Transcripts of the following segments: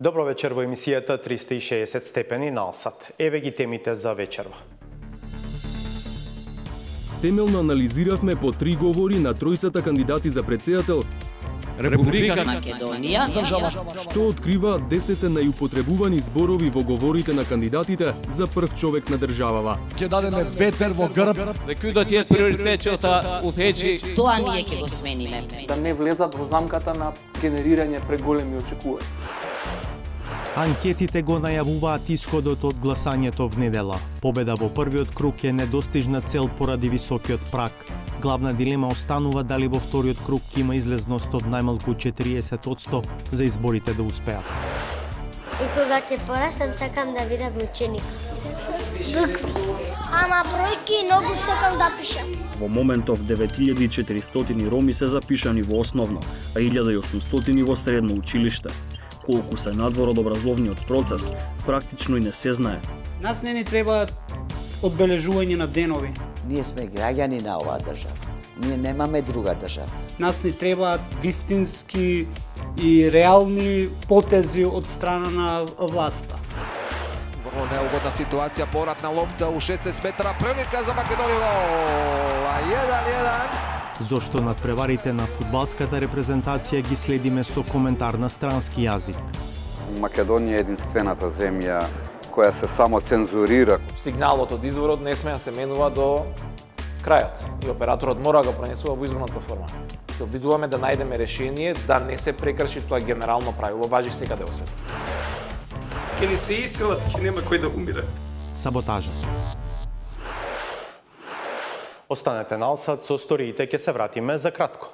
Добро вечер во емисијата 360 степени на Алсат. Еве ги темите за вечерва. Темелно анализиравме по 3 говори на тројцата кандидати за претседател Република Македонија, држава што открива 10 најупотребувани зборови во говорите на кандидатите за прв човек на државава. Ќе дадеме ветер во грб. Рекудот е приоритетот уфечи. Тоа ние ќе го смениме. Да не влезат во замката на генерирање преголеми очекувања. Анкетите го најавуваат исходот од гласањето в недела. Победа во првиот круг е недостижна цел поради високиот праг. Главна дилема останува дали во вториот круг ќе има излезност од најмалку 40% за изборите да успеат. И кога ќе порасам, сакам да видам ученик. Ама бројки многу сакам да пишам. Во моментов 9400 роми се запишани во основно, а 1800 во средно училиште. Колку се надвор од образовниот процес, практично и не се знае. Нас не ни треба одбележување на денови. Ние сме граѓани на оваа држава. Ние немаме друга држава. Нас ни треба вистински и реални потези од страна на власта. Врво неугодна ситуација, повратна лопта у 16 метра, прилика за Македонија. 1-1. Зошто надпреварите на фудбалската репрезентација ги следиме со коментар на странски јазик. Македонија е единствената земја која се само цензурира. Сигналот од изворот не сме да се менува до крајот и операторот мора да го пренесува во изборната форма. Се обидуваме да најдеме решение да не се прекрши тоа генерално правило, важи секаде во светот. Ке ни се иселат, ќе нема кој да умире. Саботажа. Останете на Алсат, со сториите ќе се вратиме за кратко.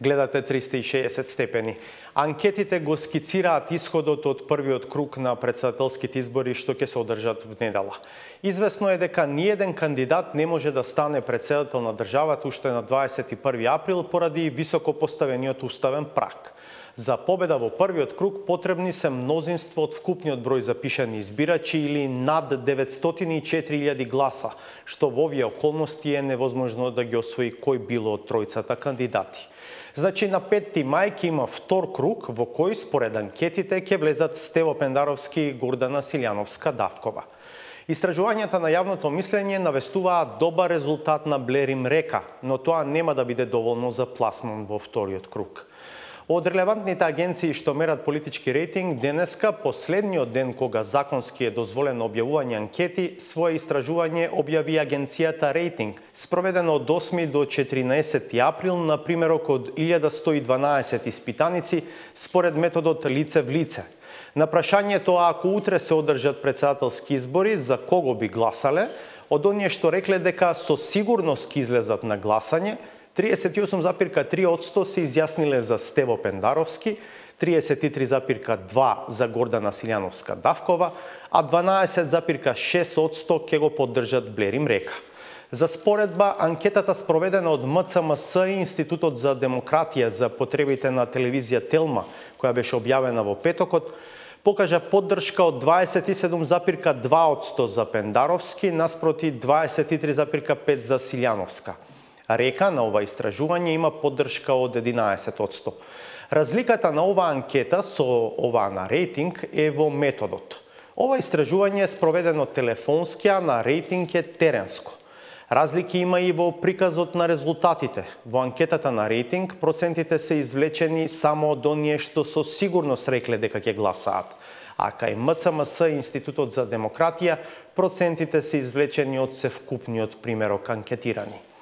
Гледате 360 степени. Анкетите го скицираат исходот од првиот круг на претседателските избори што ќе се одржат в недела. Известно е дека ниеден кандидат не може да стане претседател на државата уште на 21 април поради високо поставениот уставен праг. За победа во првиот круг потребни се мнозинство од вкупниот број запишани избирачи или над 904.000 гласа, што во овие околности е невозможно да ги освои кој било од тројцата кандидати. Значи, на 5 мај ќе има втор круг во кој, според анкетите, ќе влезат Стево Пендаровски и Гордана Силјановска-Давкова. Истражувањата на јавното мислење навестуваат добар резултат на Блерим Река, но тоа нема да биде доволно за пласман во вториот круг. Од релевантните агенции што мерат политички рейтинг, денеска, последниот ден кога законски е дозволено објавување анкети, свое истражување објави агенцијата Рейтинг, спроведено од 8 до 14 април на примерок од 1112 испитаници според методот лице в лице. На прашањето ако утре се одржат претседателски избори, за кого би гласале, од оние што рекле дека со сигурност ќе излезат на гласање, 38,3% се изјасниле за Стево Пендаровски, 33,2% за Гордана Силјановска-Давкова, а 12,6% ќе го поддржат Блерим Река. За споредба, анкетата спроведена од МЦМС и Институтот за демократија за потребите на телевизија Телма, која беше објавена во петокот, покажа поддршка од 27,2% за Пендаровски наспроти 23,5% за Силјановска. Река на ова истражување има поддршка од 11%. Разликата на оваа анкета со оваа на Рейтинг е во методот. Ова истражување е спроведено телефонски, а на Рейтинг е теренско. Разлики има и во приказот на резултатите. Во анкетата на Рейтинг процентите се извлечени само од оние што со сигурност рекле дека ќе гласаат. А кај МЦМС и Институтот за демократија процентите се извлечени од севкупниот примерок анкетирани.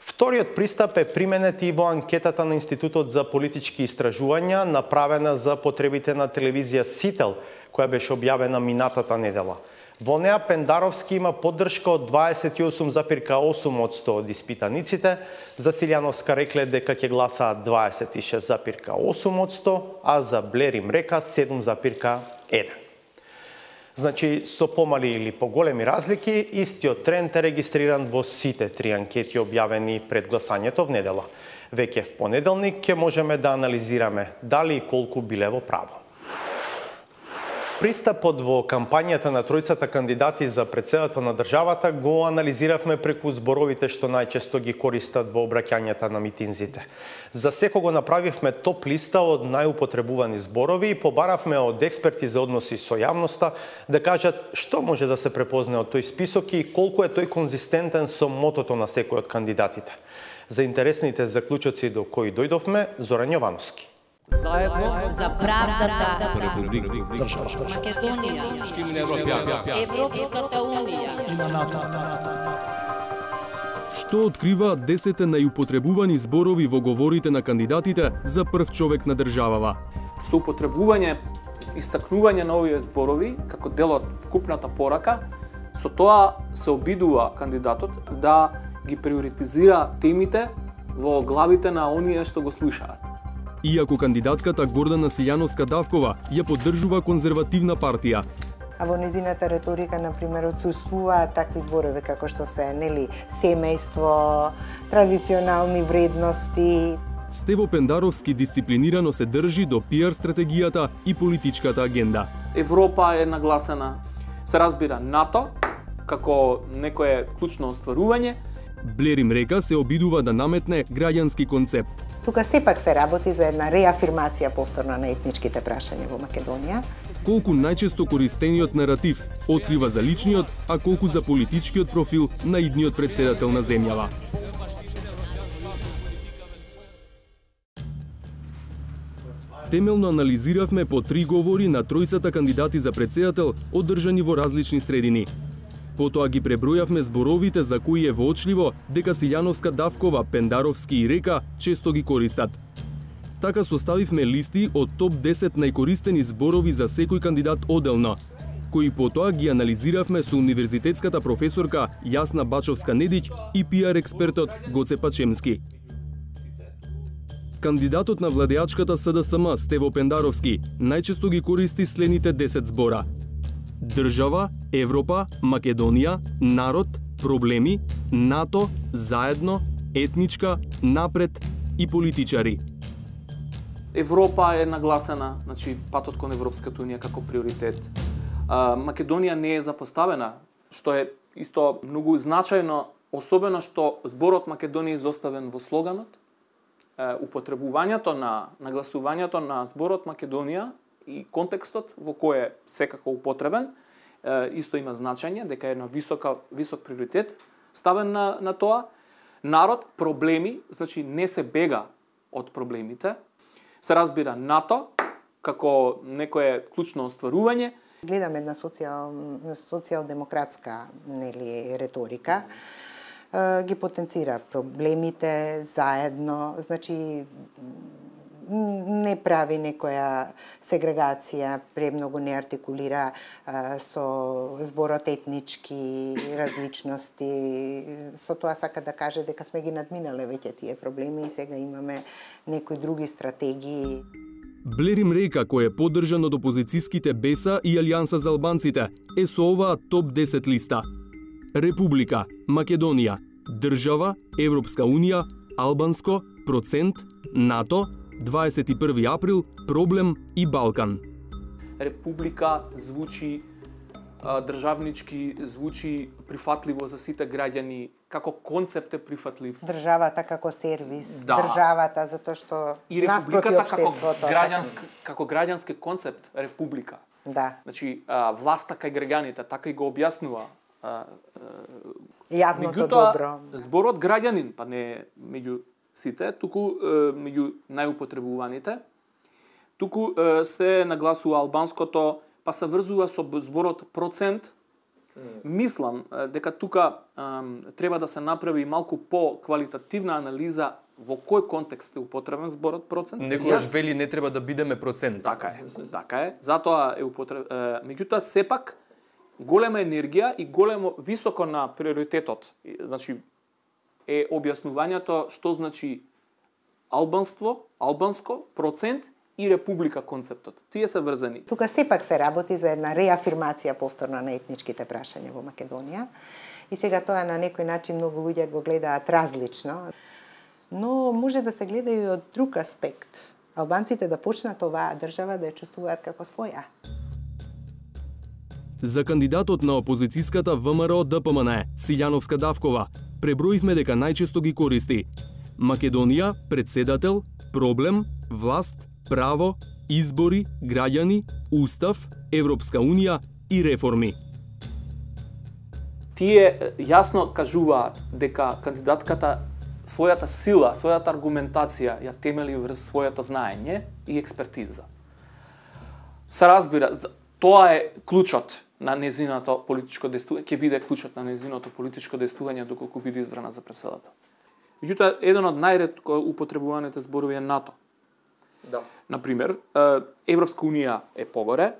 Вториот пристап е применет и во анкетата на Институтот за политички истражувања, направена за потребите на телевизија Сител, која беше објавена минатата недела. Во неа Пендаровски има поддршка од 28,8% од испитаниците, за Силјановска рекле дека ќе гласаат 26,8%, а за Блерим Река 7,1%. Значи, со помали или поголеми разлики, истиот тренд е регистриран во сите 3 анкети објавени пред гласањето в недела. Веќе в понеделник ќе можеме да анализираме дали и колку биле во право. Пристапот во кампањата на тројцата кандидати за председател на државата го анализиравме преку зборовите што најчесто ги користат во обраќањата на митинзите. За секого направивме топ листа од најупотребувани зборови и побаравме од експерти за односи со јавноста да кажат што може да се препозне од тој список и колку е тој конзистентен со мотото на секој од кандидатите. За интересните заклучоци до кои дојдовме, Зоран Јовановски. Заедно за правдата, Република Македонија, Европската унија и на НАТО. Што открива 10 најупотребувани зборови во говорите на кандидатите за прв човек на државава? Со употребување, истакнување на овие зборови како дел од вкупната порака, со тоа се обидува кандидатот да ги приоритизира темите во главите на оние што го слушаат. Иако кандидатката Гордана Силјановска-Давкова ја поддржува конзервативна партија, а во незината риторика, например, отсуствуваат такви зборови како што се, нели, семејство, традиционални вредности. Стево Пендаровски дисциплинирано се држи до пиар стратегијата и политичката агенда. Европа е нагласена, се разбира НАТО како некое клучно остварување. Блерим Река се обидува да наметне граѓански концепт. Тука сепак се работи за една реафирмација повторна на етничките прашања во Македонија. Колку најчесто користениот наратив открива за личниот, а колку за политичкиот профил на идниот председател на земјава. Темелно анализиравме по 3 говори на тројцата кандидати за председател одржани во различни средини. Потоа ги пребројавме зборовите за кои е воочливо дека Силјановска-Давкова, Пендаровски и Река често ги користат. Така составивме листи од топ 10 најкористени зборови за секој кандидат оделно, кои потоа ги анализиравме со универзитетската професорка Јасна Бачовска-Недиќ и пиар експертот Гоце Пачемски. Кандидатот на владеачката СДСМ Стево Пендаровски најчесто ги користи следните 10 збора: држава, Европа, Македонија, народ, проблеми, НАТО, заедно, етничка, напред и политичари. Европа е нагласена, значи патот кон Европската унија како приоритет. Македонија не е запоставена, што е исто многу значајно, особено што зборот Македонија е изоставен во слоганот. Употребувањето на нагласувањето на зборот Македонија и контекстот во кој е секако употребен, исто има значење, дека е на висок приоритет ставен на тоа. Народ, проблеми, значи не се бега од проблемите. Се разбира НАТО, како некое клучно остварување. Гледаме една социјалдемократска, нели, риторика. Ги потенцира проблемите заедно, значи не прави некоја сегрегација, премногу не артикулира со зборот етнички различности. Со тоа сака да каже дека сме ги надминале веќе тие проблеми и сега имаме некои други стратегии. Блерим Река, кој е поддржан од опозицијските БЕСА и Алијанса за албанците, е со оваа топ 10 листа: Република, Македонија, држава, Европска унија, албанско, процент, НАТО, 21 април, проблем и Балкан. Република звучи државнички, звучи прифатливо за сите граѓани, како концепт е прифатлив. Државата како сервис, да. Државата затоа што и републиката како граѓански концепт, република. Да. Значи власта кај граѓаните, така и го објаснува. Јавното добро. Зборот граѓанин, па не меѓу сите, туку меѓу најупотребуваните. Туку се нагласува албанското, па се врзува со зборот процент. Мислам дека тука треба да се направи малку по-квалитативна анализа во кој контекст е употребен зборот процент. Некојаш вели не треба да бидеме процент. Така е. Затоа е употребен. Меѓутоа сепак голема енергија и големо високо на приоритетот. Значи е објаснувањето што значи албанско, процент и република концептот. Тие се врзани. Тука сепак се работи за една реафирмација повторна на етничките прашања во Македонија. И сега тоа на некој начин многу луѓе го гледаат различно. Но може да се гледа и од друг аспект. Албанците да почнат оваа држава да ја чувствуваат како своја. За кандидатот на опозицијската ВМРО ДПМН, Силјановска Давкова, преброивме дека најчесто ги користи Македонија, председател, проблем, власт, право, избори, граѓани, устав, Европска унија и реформи. Тие јасно кажуваат дека кандидатката својата сила, својата аргументација ја темели врз својата знаење и експертиза. Се разбира, тоа е клучот на незиното политичко действување, ќе биде клучот на незиното политичко действување доколку биде избрана за председател. Меѓутоа, еден од најретко употребуваните зборови е НАТО. Да. Например, Европска унија е погоре,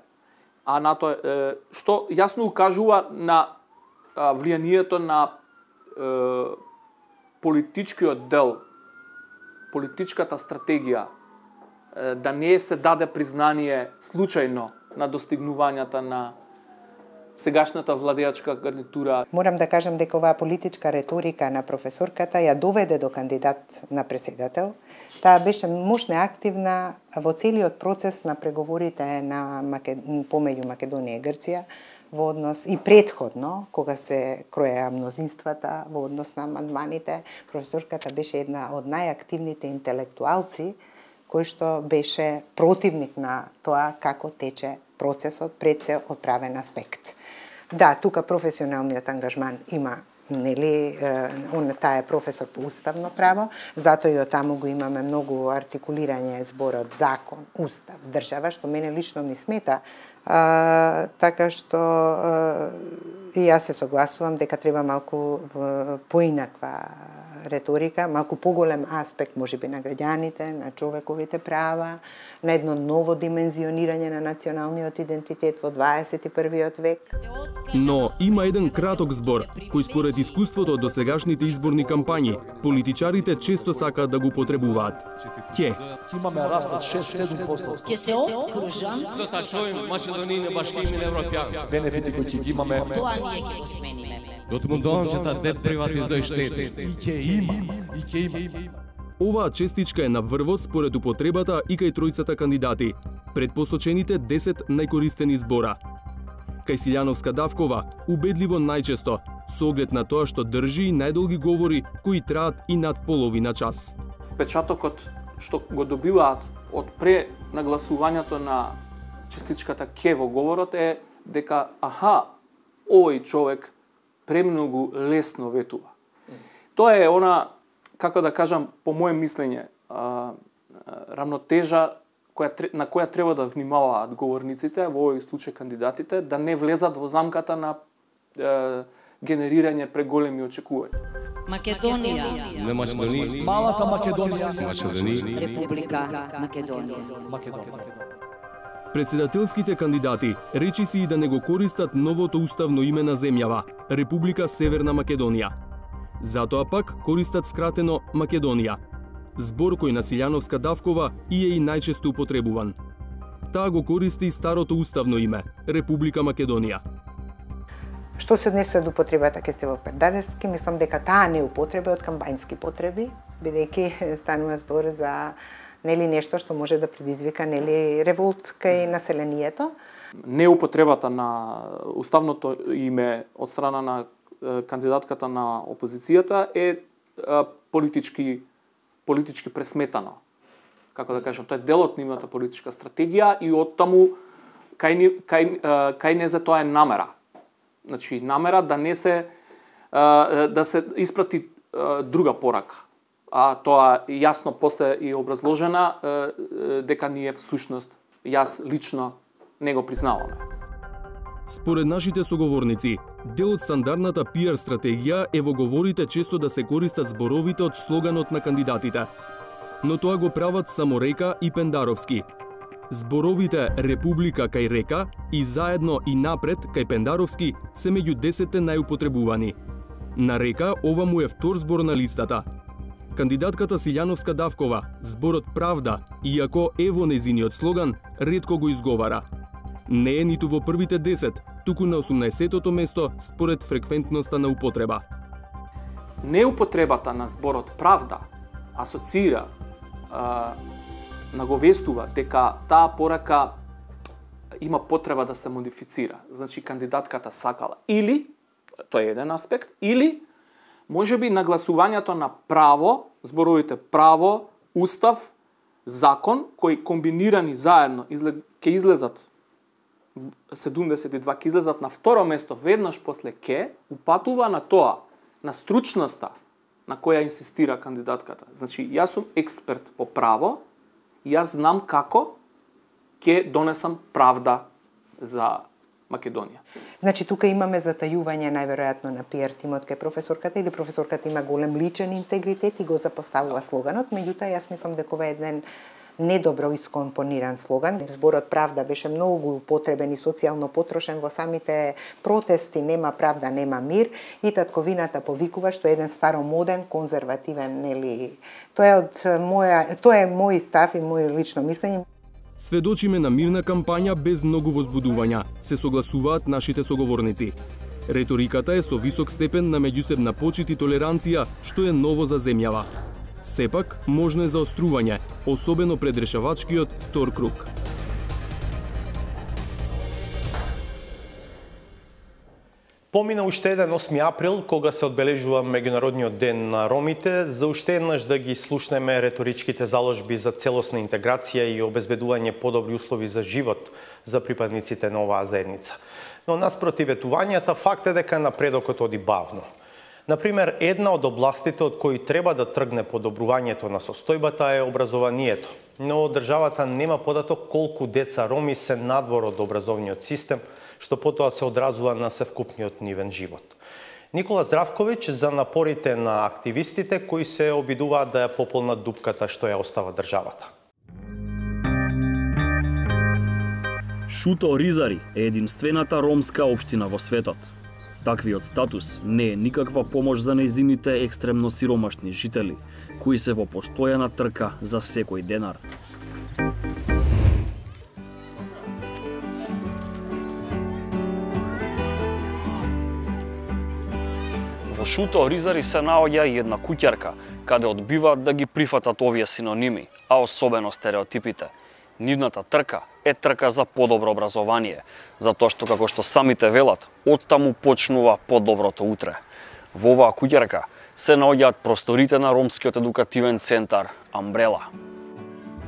а НАТО е, што јасно укажува на влијанието на политичкиот дел, политичката стратегија, да не се даде признание случајно на достигнувањата на сегашната владеачка гарнитура. Морам да кажам дека оваа политичка риторика на професорката ја доведе до кандидат на председател. Таа беше мощна и активна во целиот процес на преговорите на помеѓу Македонија и Грција во однос и предходно, кога се кроеа мнозинствата во однос на амандманите. Професорката беше една од најактивните интелектуалци кој што беше противник на тоа како тече процесот пред се од правен аспект. Да, тука професионалниот ангажман има, нели, таа е професор по уставно право, затоа и од таму го имаме многу артикулирање зборот закон, устав, држава, што мене лично ми смета, така што и јас се согласувам дека треба малку поинаква реторика, малку поголем аспект можеби на граѓаните, на човековите права, на едно ново димензионирање на националниот идентитет во 21. век. Но има еден краток збор, кој според искуството од досегашните изборни кампањи, политичарите често сакаат да го потребуваат. Ќе имаме раст од 6-7%. Ќе се окружам. За та чојм Македонија башки и европјани. Бенефити кои ќе ги имаме. Тоа ние ќе го смениме. Дотмундончата дет приватизој штети. И ќе има. Оваа честичка е на врвот според употребата и кај тројцата кандидати, пред посочените 10 најкористени збора. Кај Силјановска Давкова, убедливо најчесто, со оглед на тоа што држи и најдолги говори кои траат и над половина час. Впечатокот што го добиваат од пренагласувањето на честичката ке во говорот е дека овој човек премногу лесно ветува. Тоа е она, како да кажам, по моје мислење, рамнотежа на која треба да внимаваат говорниците, во овој случај кандидатите, да не влезат во замката на генерирање преголеми очекувања. Македонија. Не Македонија. Малата Македонија. Македонија. Република Македонија. Председателските кандидати речиси и да не го користат новото уставно име на земјава, Република Северна Македонија. Затоа пак користат скратено Македонија. Збор кој на Силјановска Давкова и е и најчесто употребуван. Таа го користи и старото уставно име, Република Македонија. Што се однесува до употребата ке сте во Пердарески, мислам дека таа не употреба од кампањски потреби, бидејќи станува збор за нели нешто што може да предизвика нели револт кај населението. Неупотребата на уставното име од страна на кандидатката на опозицијата е политички пресметано. Како да кажам, тоа е дел од нивната политичка стратегија и оттаму кај не за тоа е намера. Значи намера да не се да се испрати друга порака. А тоа јасно после и образложена дека ние всушност јас лично не го признаваме. Според нашите соговорници, дел од стандардната PR стратегија е во говорите често да се користат зборовите од слоганот на кандидатите. Но тоа го прават само Река и Пендаровски. Зборовите Република кај Река и заедно и напред кај Пендаровски се меѓу 10 најупотребувани. На Река ова му е втор збор на листата. Кандидатката Силјановска Давкова, зборот Правда, иако е во незиниот слоган, ретко го изговара. Не е ниту во првите 10, туку на 18-тото место според фреквентноста на употреба. Неупотребата на зборот Правда асоцира, наговестува дека таа порака има потреба да се модифицира. Значи кандидатката сакала или, тоа е еден аспект, или можеби нагласувањето на право, зборовите право, устав, закон, кои комбинирани заедно ќе излезат 72 ќе излезат на второ место, веднаш после ќе упатува на тоа, на стручноста на која инсистира кандидатката. Значи, јас сум експерт по право, јас знам како ќе донесам правда за Македонија. Значи, тука имаме затајување најверојатно на PR тимот кај професорката или професорката има голем личен интегритет и го запоставува слоганот, меѓутоа јас мислам дека ова е еден недобро искомпониран слоган. Зборот правда беше многу употребен и социјално потрошен во самите протести нема правда, нема мир и татковината повикува, што е еден старомоден, конзервативен, нели. Тоа е мој став и мој лично мислење. Сведочиме на мирна кампања без многу возбудувања, се согласуваат нашите соговорници. Реториката е со висок степен на меѓусебна почит и толеранција, што е ново за земјава. Сепак, можно е заострување, особено пред решавачкиот втор круг. Помина уште еден 8 април, кога се одбележува Меѓународниот ден на ромите, за уште еднаш да ги слушнеме реторичките заложби за целосна интеграција и обезбедување подобри услови за живот за припадниците на оваа заедница. Но наспроти ветувањата, факт е дека напредокот оди бавно. Например, една од областите од кои треба да тргне подобрувањето на состојбата е образованието, но државата нема податок колку деца роми се надвор од образовниот систем, што потоа се одразува на севкупниот нивен живот. Никола Здравковиќ за напорите на активистите кои се обидуваат да ја пополнат дупката што ја остава државата. Шуто Ризари е единствената ромска општина во светот. Таквиот статус не е никаква помош за нејзините екстремно сиромашни жители, кои се во постојана трка за секој денар. Во Шуто Ризари се наоѓа и една куќарка, каде одбиваат да ги прифатат овие синоними, а особено стереотипите. Нивната трка е трка за подобро образование, затоа што, како што самите велат, оттаму почнува подоброто утре. Во оваа куќарка се наоѓаат просторите на ромскиот едукативен центар Амбрела.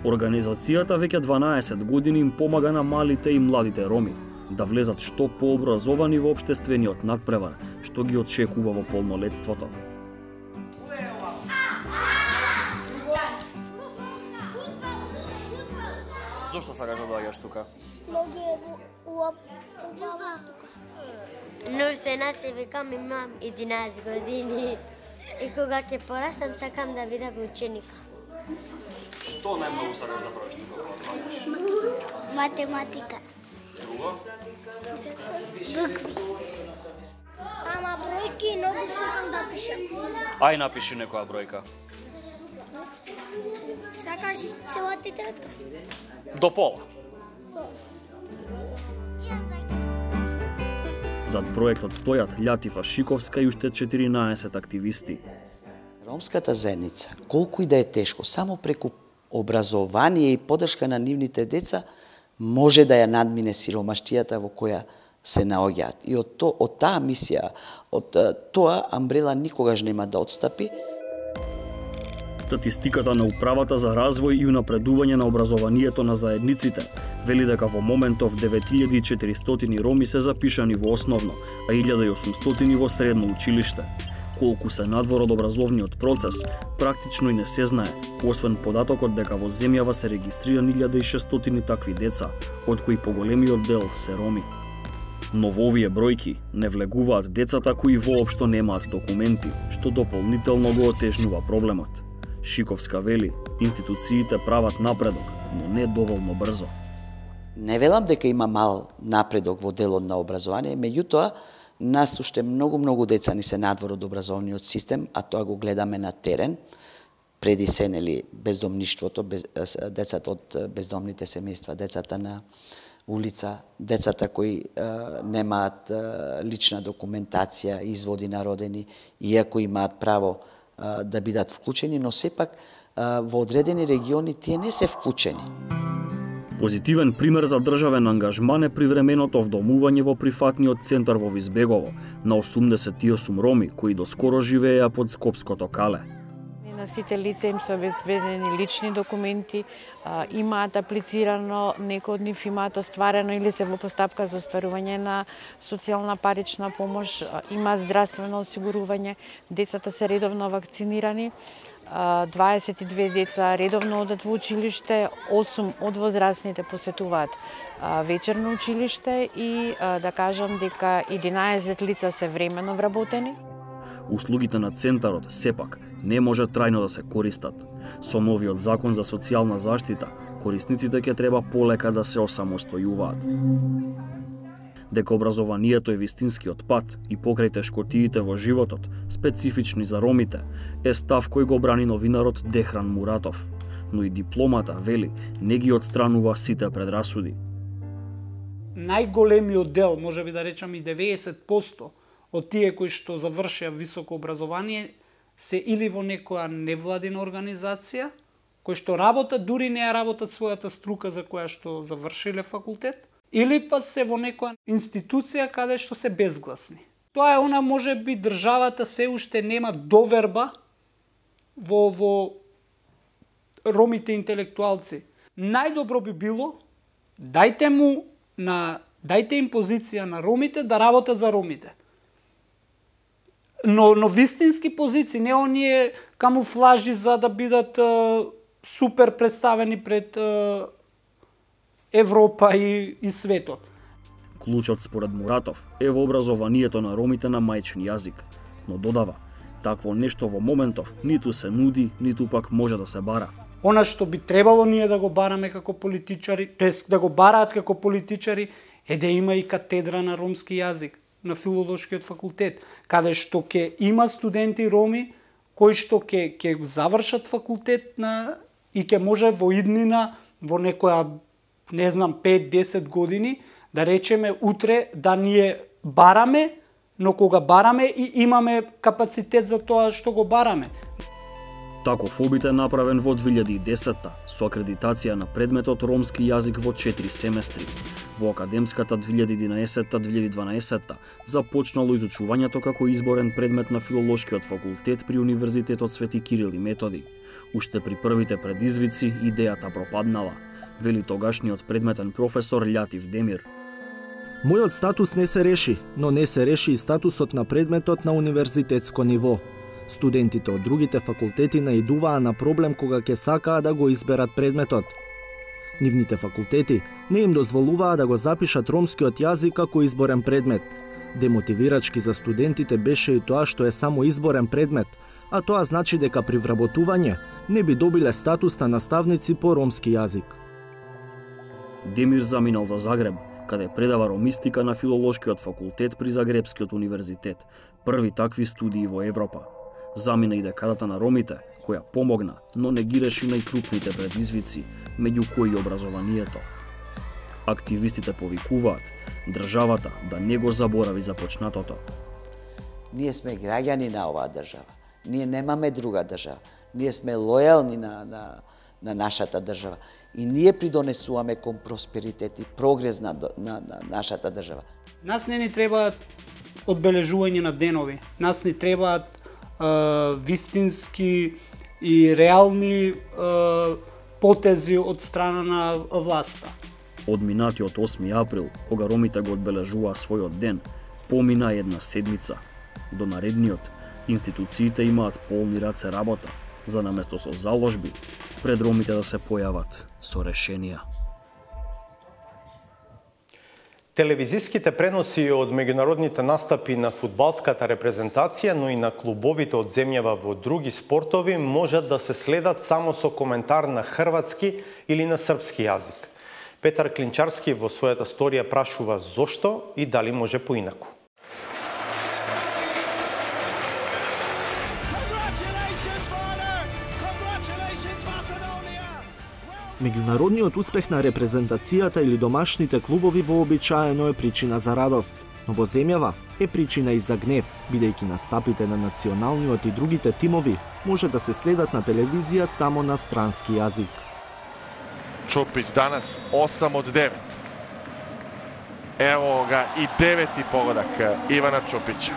Организацијата веќе 12 години им помага на малите и младите роми да влезат што пообразовани во општествениот надпревар, што ги очекува во полнолетството. Зошто сакаш да доаѓаш тука? Многу е убаво тука. Нурсена се викам, имам 11 години. И кога ќе порастам, сакам да видам ученика. Што најмногу сакаш да правиш тука кога доаѓаш? Математика. Друго? Букви. Ама бројки многу сакам да пишам. Ај напиши некоја бројка. Сакаш цела тетрадка? До пола. Зад проектот стојат Љатифа Шиковска и уште 14 активисти. Ромската заедница, колку и да е тешко, само преку образование и поддршка на нивните деца, може да ја надмине сиромаштијата во која се наоѓаат. И од таа мисија, од тоа Амбрела никогаш нема да отстапи. Статистиката на Управата за развој и унапредување на образованието на заедниците вели дека во моментов 9400 роми се запишани во основно, а 1800 во средно училиште. Колку се надвор од образовниот процес, практично и не се знае, освен податокот дека во земјава се регистрирани 1600 такви деца, од кои поголемиот дел се роми. Но во овие бројки не влегуваат децата кои воопшто немаат документи, што дополнително го отежнува проблемот. Шиковска вели, институциите прават напредок, но не доволно брзо. Не велам дека има мал напредок во делот на образование, меѓутоа, нас уште многу деца ни се надвор од образовниот систем, а тоа го гледаме на терен, преди се, нели, бездомништвото, децата од бездомните семејства, децата на улица, децата кои немаат лична документација, изводи на родени, иако имаат право да бидат вклучени, но сепак во одредени региони тие не се вклучени. Позитивен пример за државен ангажман е привременото вдомување во прифатниот центар во Визбегово на 88 роми кои доскоро живееа под Скопското кале. На сите лица им се обезбедени лични документи, имаат аплицирано, некои од нив имаат остварено или се во постапка за остварување на социјална парична помош, имаат здравствено осигурување, децата се редовно вакцинирани, 22 деца редовно одат во училиште, 8 од возрастните посетуваат вечерно училиште и да кажам дека 11 лица се временно вработени. Услугите на центарот сепак не може трајно да се користат. Со новиот закон за социјална заштита, корисниците ќе треба полека да се осамостојуваат. Дека образованието е вистинскиот пат и покрај тешкотиите во животот, специфични за ромите, е став кој го брани новинарот Дехран Муратов. Но и дипломата, вели, не ги отстранува сите предрасуди. Најголемиот дел, може би да речам и 90%, од тие кои што завршија високо образование се или во некоја невладина организација, кои што работат, дури не ја работат својата струка за која што завршиле факултет, или па се во некоја институција каде што се безгласни. Тоа е она, може би, државата се уште нема доверба во ромите интелектуалци. Најдобро би било, дајте им позиција на ромите да работат за ромите. Но вистински позиции, не оние камуфлажи за да бидат супер представени пред Европа и светот. Клучот според Муратов е во образованието на ромите на мајчин јазик, но додава, такво нешто во моментов ниту се нуди, ниту пак може да се бара. Она што би требало ние да го бараме како политичари, тоест да го бараат како политичари, е да има и катедра на ромски јазик на филолошкиот факултет, каде што ќе има студенти роми кои што ќе завршат факултет и ќе може во иднина, во некоја, не знам, 5-10 години, да речеме утре да ние бараме, но кога бараме и имаме капацитет за тоа што го бараме. Таков обид е направен во 2010-та со акредитација на предметот ромски јазик во 4 семестри. Во академската 2011-2012 започнало изучувањето како изборен предмет на филолошкиот факултет при Универзитетот Свети Кирил и Методи. Уште при првите предизвици идејата пропаднала, вели тогашниот предметен професор Љатив Демир. Мојот статус не се реши, но не се реши и статусот на предметот на универзитетско ниво. Студентите од другите факултети наидуваа на проблем кога ќе сакаа да го изберат предметот. Нивните факултети не им дозволуваа да го запишат ромскиот јазик како изборен предмет. Демотивирачки за студентите беше и тоа што е само изборен предмет, а тоа значи дека при вработување не би добиле статус на наставници по ромски јазик. Демир заминал за Загреб, каде предава ромистика на филолошкиот факултет при Загребскиот универзитет, први такви студии во Европа. Замина и декадата на ромите, која помогна, но не ги реши најкрупните предизвици, меѓу кои образованието. Активистите повикуваат државата да не го заборави започнатото. Ние сме граѓани на оваа држава. Ние немаме друга држава. Ние сме лојални на нашата држава. И ние придонесуваме кон просперитет и прогрес на нашата држава. Нас не ни требаат одбележување на денови. Нас ни требаат вистински и реални потези од страна на власта. Од минатиот 8 април, кога ромите го одбележуваа својот ден, помина една седмица. До наредниот, институциите имаат полни раце работа, за наместо со заложби, пред ромите да се појават со решенија. Телевизиските преноси од меѓународните настапи на фудбалската репрезентација, но и на клубовите од земјава во други спортови можат да се следат само со коментар на хрватски или на српски јазик. Петар Клинчарски во својата сторија прашува зошто и дали може поинаку. Меѓународниот успех на репрезентацијата или домашните клубови вообичаено е причина за радост, но во земјава е причина и за гнев, бидејќи настапите на националниот и другите тимови може да се следат на телевизија само на странски јазик. Čupić danas 8 od 9. Evo ga i 9. pogodak Ivana Čupića.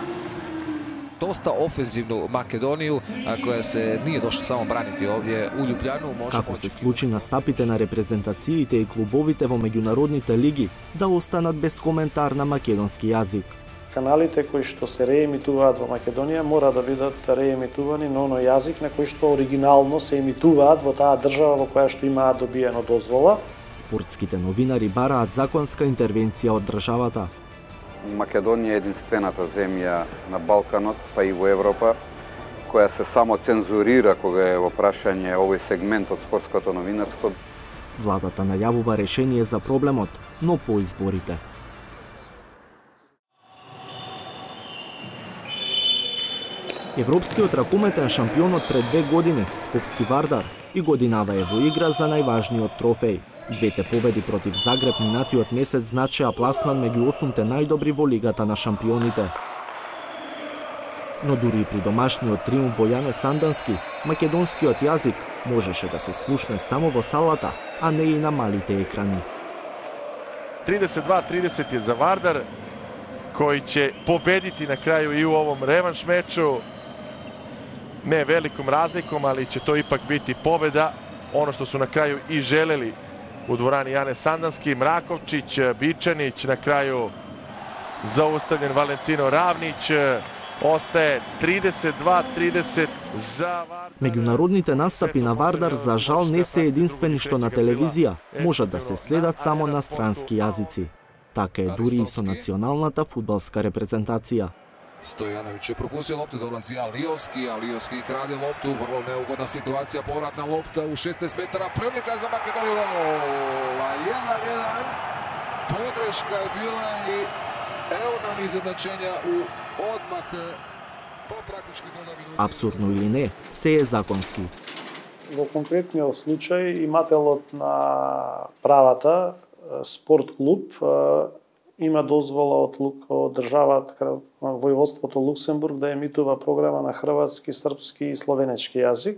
Доста офензивну Македонiju, koja se nije došla само braniti ovdje u Ljubljanu. Како се случи настапите на репрезентациите и клубовите во меѓународните лиги да останат без коментар на македонски јазик. Каналите кои што се реемитуваат во Македонија мора да бидат реемитувани на оној јазик на кој што оригинално се емитуваат во таа држава во која што имаат добиено дозвола. Спортските новинари бараат законска интервенција од државата. Македонија е единствената земја на Балканот, па и во Европа, која се само цензурира кога е во прашање овој сегмент од спортското новинарство. Владата најавува решение за проблемот, но по изборите. Европскиот ракометен шампионот пред 2 години, Скопски Вардар, и годинава е во игра за најважниот трофеј. Двете победи против Загреб минатиот месец значеа пласман меѓу 8-те најдобри во Лигата на шампионите. Но дури и при домашниот триумф во Јане Сандански, македонскиот јазик можеше да се слушне само во салата, а не и на малите екрани. 32-30 je za Vardar, koji će pobediti na kraju i u ovom revanš meču. Ne velikom razlikom, ali će to ipak biti pobeda. Ono što su na kraju i želeli u dvorani Jane Sandanski. Mrakovčić, Bičanić, na kraju zaustavljen Valentino Ravnić. Ostaje 32-30 za Vardar. Меѓународните настапи на Вардар за жал не се единствени што на телевизија можат да се следат само на странски јазици. Така е дури и со националната фудбалска репрезентација. Стојановиќ е пропустил лопта, долази Алиовски, Алиовски краде лопту, врло неугодна ситуација, повратна лопта у 16 метара, прилика за Македонија, гола 1-1. Погрешка е била и ево нам изедначења у одмах по практички до минути. Апсурдно или не, се е законски. Во конкретниот случај имателот на правата спорт клуб има дозвола од државата, војводството Луксембург да емитува програма на хрватски, српски и словенечки јазик.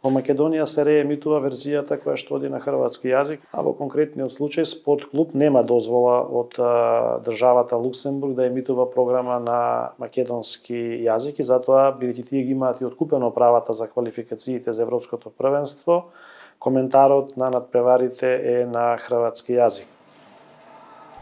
Во Македонија се реемитува верзијата која што оди на хрватски јазик, а во конкретниот случај спорт клуб нема дозвола од државата Луксембург да емитува програма на македонски јазик и затоа, бидејќи тие ги имаат и откупено правата за квалификациите за европското првенство, коментарот на надпреварите е на хрватски јазик.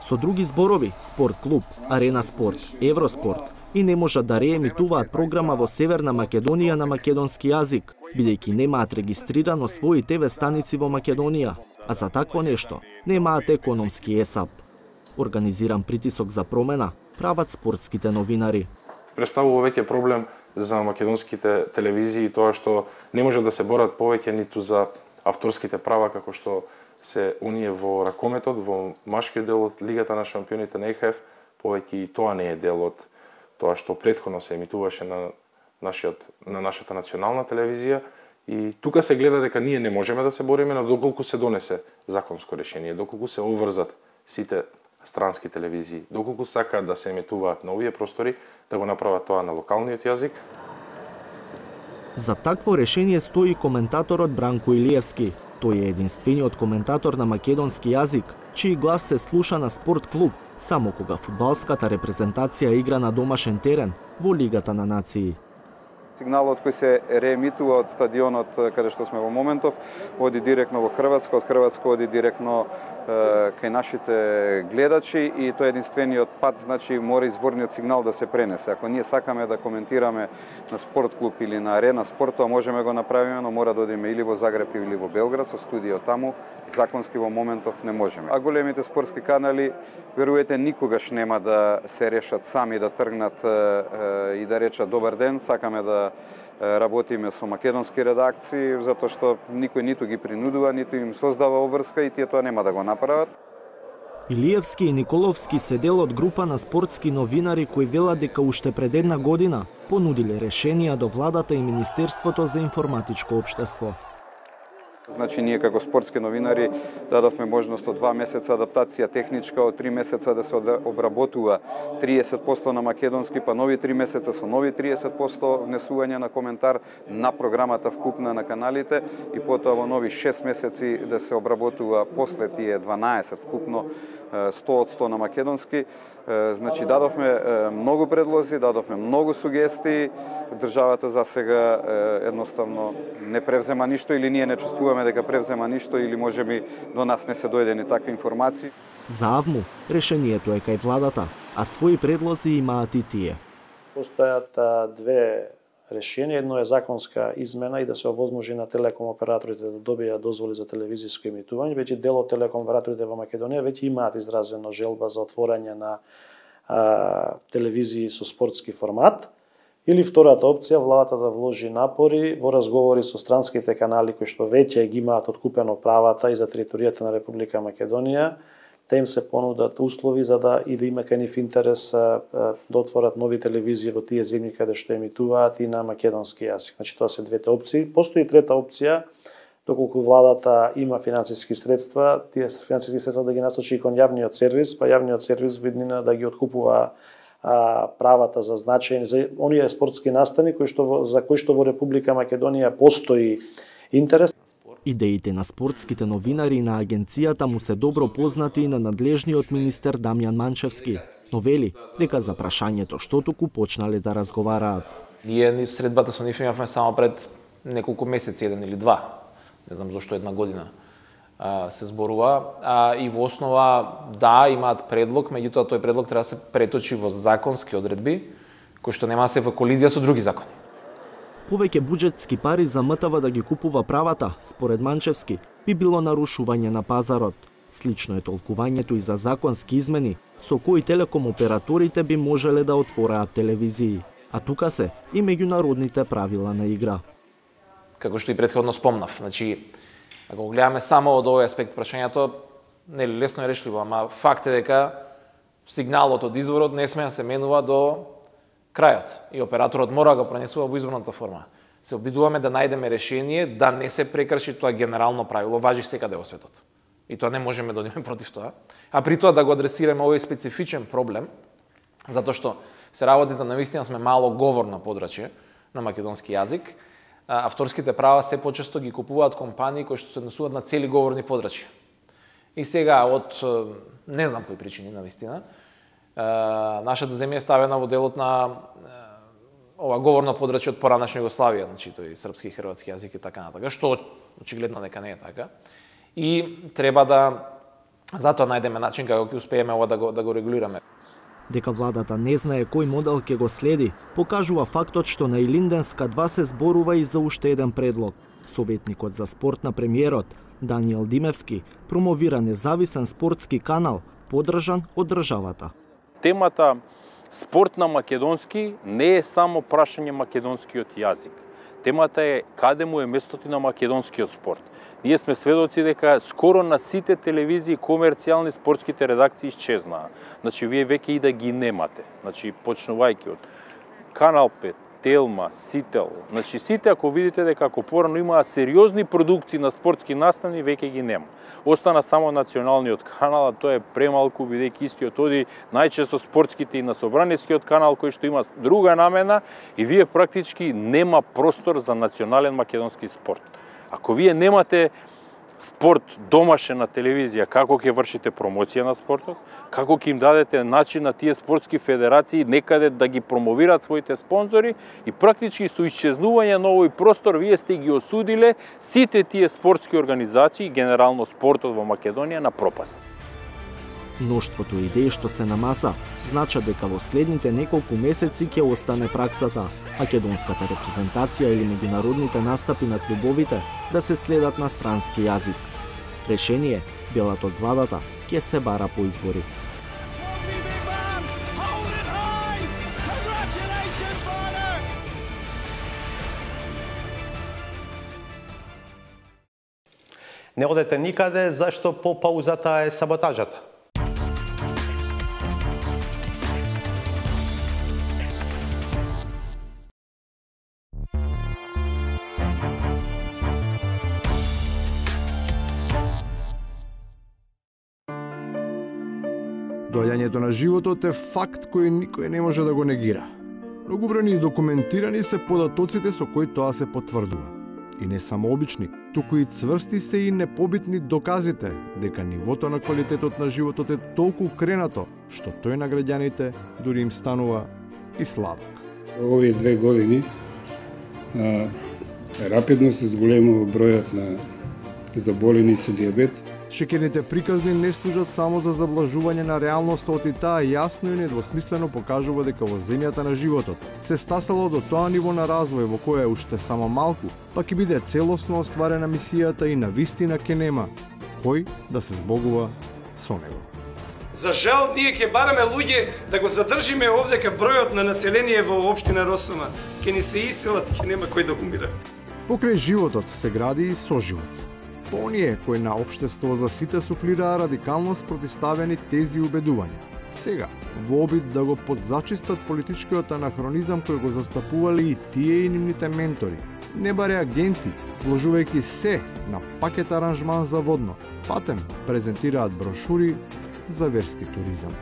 Со други зборови, спорт клуб, Арена спорт, Евроспорт и не можат да реемитуваат програма во Северна Македонија на македонски јазик, бидејќи немаат регистрирано своји ТВ станици во Македонија, а за такво нешто немаат економски ЕСАП. Организиран притисок за промена прават спортските новинари. Представува веќе проблем за македонските телевизии тоа што не може да се борат повеќе ниту за авторските права како што се уние во ракометот, во машкиот дел од Лигата на шампионите на ЕХФ, повеќе и тоа не е дел од тоа што претходно се емитуваше на нашата национална телевизија и тука се гледа дека ние не можеме да се бориме, но доколку се донесе законско решение, доколку се обврзат сите странски телевизии, доколку сакаат да се емитуваат на овие простори, да го направат тоа на локалниот јазик. За такво решение стои коментаторот Бранко Илиевски. Тој е единствениот коментатор на македонски јазик, чиј глас се слуша на спорт клуб, само кога фудбалската репрезентација игра на домашен терен во Лигата на нации. Сигналот кој се реемитува од стадионот каде што сме во моментов оди директно во Хрватска, од Хрватска оди директно кај нашите гледачи и тоа е единствениот пат, значи мора изворниот сигнал да се пренесе. Ако ние сакаме да коментираме на спорт клуб или на Арена спорт, тоа можеме го направиме, но мора да одиме или во Загреб или во Белград со студио таму, законски во моментов не можеме. А големите спортски канали веруете никогаш нема да се решат сами да тргнат и да речат добар ден, сакаме да работиме со македонски редакции, затоа што никој ниту ги принудува, ниту им создава обврска и тие тоа нема да го направат. Илиевски и Николовски се дел од група на спортски новинари кои велат дека уште пред една година понудиле решенија до владата и Министерството за информатичко општество. Значи, ние како спортски новинари дадовме можност од 2 месеца адаптација техничка, од 3 месеца да се обработува 30% на македонски, па нови 3 месеца со нови 30% внесување на коментар на програмата вкупна на каналите и потоа во нови 6 месеци да се обработува после тие 12 вкупно 100% на македонски. Значи, дадовме многу предлози, дадовме многу сугестии. Државата за сега едноставно не превзема ништо или ние не чувствуваме дека превзема ништо или можеби до нас не се дојдени такви информации. За АВМУ решението е кај владата, а своји предлози имаат и тие. Постојат две решенија. Едно е законска измена и да се овозможи на телеком операторите да добијат дозволи за телевизиско емитување. Веќе дел од телеком операторите во Македонија веќе имаат изразено желба за отворање на телевизии со спортски формат. Или втората опција, владата да вложи напори во разговори со странските канали кои што веќе ги имаат откупено правата и за територијата на Република Македонија, да им се понудат услови за да и да има кај нив интерес да отворат нови телевизии во тие земји каде што емитуваат и на македонски јазик. Значи, тоа се двете опции. Постои трета опција, доколку владата има финансиски средства, тие финансиски средства да ги насочи кон јавниот сервис, па јавниот сервис виднина да ги откупува правата за значајни за оние спортски настани за кои што во Република Македонија постои интерес. Идеите на спортските новинари и на агенцијата му се добро познати и на надлежниот министер Дамјан Манчевски, но вели дека за прашањето што туку почнале да разговараат. Ние средбата со нив имавме само пред неколку месеци, 1 или 2. Не знам зошто 1 година се зборува. И во основа, да, имаат предлог, меѓутоа тој предлог треба да се преточи во законски одредби, кои што нема да се во колизија со други закони. Повеќе буџетски пари за МТВ да ги купува правата, според Манчевски, би било нарушување на пазарот. Слично е толкувањето и за законски измени, со кои телеком операторите би можеле да отвораат телевизии. А тука се и меѓународните правила на игра. Како што и претходно спомнав, значи, ако го гледаме само од овој аспект прашањето, нели лесно е решливо, ама факт е дека сигналот од изворот не сме да се менува до крајот и операторот мора да го пренесува во изворната форма. Се обидуваме да најдеме решение да не се прекрши тоа генерално правило, важи секаде во светот. И тоа не можеме да одиме против тоа. А при тоа да го адресираме овој специфичен проблем, затоа што се работи за навистина сме мало говорно подрачје на македонски јазик. Авторските права се почесто ги купуваат компании кои што се однесуваат на цели говорни подрачја. И сега од не знам кои причини навистина, нашата земја е ставена во делот на ова говорно подрачје од поранешна Југославија, значи тој српски и хрватски јазик и така натака, што очигледно дека не е така. И треба да затоа најдеме начин како ќе успееме ова да го регулираме. Дека владата не знае кој модел ќе го следи, покажува фактот што на Илинденска 2 се зборува и за уште еден предлог. Советникот за спорт на премиерот, Даниел Димевски, промовира независен спортски канал, поддржан од државата. Темата спорт на македонски не е само прашање македонскиот јазик. Темата е каде му е местото на македонскиот спорт. Ние сме сведоци дека скоро на сите телевизии комерцијални спортските редакции исчезнаа. Значи, вие веќе и да ги немате. Значи, почнувајќи од Канал 5, Телма, Сител. Значи, сите, ако видите дека ако порано имаа сериозни продукции на спортски настани, веќе ги нема. Остана само националниот канал, а тоа е премалку, бидејќи истиот оди најчесто спортските и на собранискиот канал, кој што има друга намена, и вие практички нема простор за национален македонски спорт. Ако вие немате спорт домашен на телевизија, како ќе вршите промоција на спортот, како ќе им дадете начин на тие спортски федерации некаде да ги промовираат своите спонзори и практички со исчезнување на овој простор вие сте ги осудиле сите тие спортски организации, генерално спортот во Македонија, на пропаст. Мноштвото идеи што се на маса значат дека во следните неколку месеци ќе остане праксата македонската репрезентација или меѓународните настапи на клубовите да се следат на странски јазик. Решение, делат од владата, ќе се бара по избори. Не одете никаде, зашто по паузата е саботажата. Доаѓањето на животот е факт кој никој не може да го негира. Многобројни и документирани се податоците со кои тоа се потврдува. И не само обични, туку и цврсти се и непобитни доказите дека нивото на квалитетот на животот е толку кренато, што тој на граѓаните дури им станува и сладок. Овие 2 години рапидно се зголемува бројот на заболени со дијабет. Шеќерните приказни не служат само за заблажување на реалноста, и таа јасно и недвосмислено покажува дека во земјата на животот се стасало до тоа ниво на развој во кое уште само малку, па ќе биде целосно остварена мисијата и на вистина ќе нема кој да се збогува со него. За жал, ние ќе бараме луѓе да го задржиме овдека бројот на население во општина Росома. Ќе ни се иселат и ќе нема кој да умира. Покрај животот се гради и соживот. По оние кои на општество за сите суфлираа радикално спротивставени тези убедувања. Сега, во обид да го подзачистат политичкиот анахронизам кој го застапувале и тие и нивните ментори, не баре агенти, вложувајќи се на пакет аранжман за водно, патем презентираат брошури за верски туризам.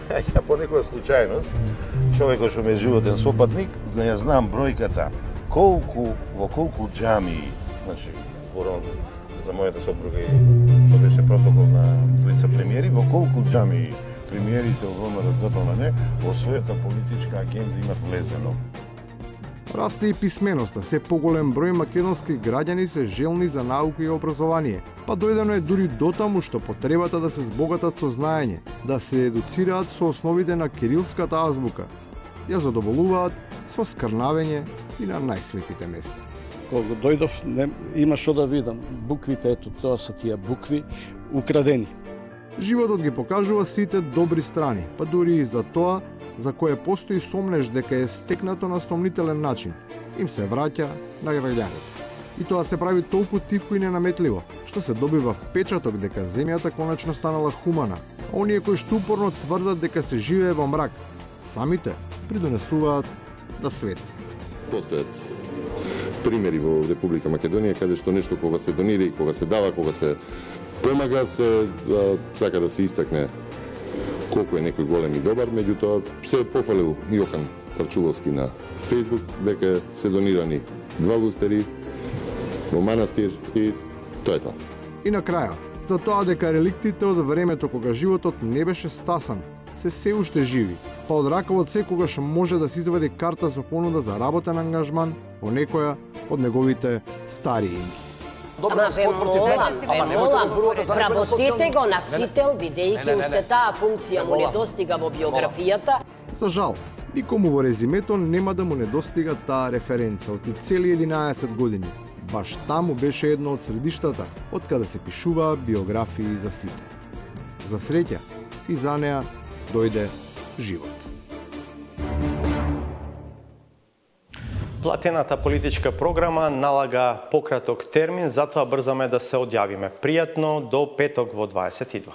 Ја по некоја случајност, човекот што ме е животен сопатник, не ја знам бројката, во колку џамии, значи, за мојата сопруга и што беше протокол на двојца премиери, во колку џамии премиерите од ВМРО ДПМН во својата политичка агенда имат влезено. Расте и писменоста, се поголем број македонски граѓани се желни за наука и образование, па дојдено е дури дотаму што потребата да се збогатат со знаење, да се едуцираат со основите на кирилската азбука, ја задоволуваат со скрнавење и на најсветите места. Кога дојдов, има што да видам. Буквите, ето, тоа се тие букви, украдени. Животот ги покажува сите добри страни, па дури и за тоа за кое постои сомнеш дека е стекнато на сомнителен начин, им се враќа на граѓаните. И тоа се прави толку тивко и ненаметливо, што се добива впечаток дека земјата конечно станала хумана, а оние кои што упорно тврдат дека се живее во мрак, самите придонесуваат да светне. Постојат примери во Република Македонија каде што нешто кога се донира и кога се дава, кога се помага, се сака да се истакне колку е некој голем и добар, меѓутоа се пофалил Јохан Тарчуловски на Фејсбук дека се донирани 2 лустери во манастир и тоа е тоа. И на краја, за тоа дека реликтите од времето кога животот не беше стасан, се уште живи, па од ракавот секогаш може да се извади карта со понуда за работен ангажман во некоја од неговите стари инки. Ама ве молам, вработете го на сител, бидејќи уште таа функција му не достига во биографијата. За жал, никому во резимето нема да му недостига таа референца од цели 11 години. Баш таму беше едно од средиштата од каде се пишуваа биографии за сите. За среќа и за неа дојде живот. Платената политичка програма налага пократок термин, затоа брзаме да се одјавиме. Пријатно до петок во 22.